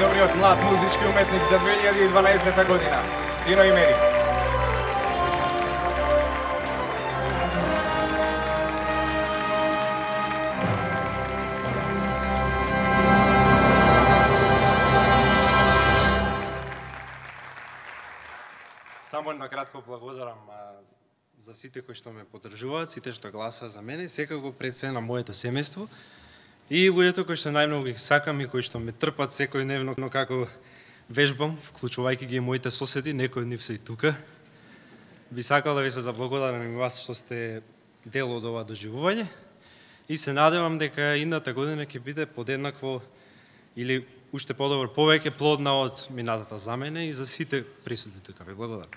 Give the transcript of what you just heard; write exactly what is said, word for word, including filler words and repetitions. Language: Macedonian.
најдобриот млад музички уметник за две илјади и дванаесета година. Ино и Мери. Само на кратко благодарам за сите кои што ме поддржуваат, сите што гласаа за мене, секако пред се на моето семејство и луѓето кои што најмногу ги сакам и кои што ме трпат секојдневно, но како вежбам, вклучувајќи ги и моите соседи, некои од нив се и тука. Би сакал да ви се заблагодарам и вас што сте дел од ова доживување и се надевам дека идната година ќе биде подеднакво или уште подобро, повеќе плодна од минатата за мене и за сите присутни тука. Ви благодарам.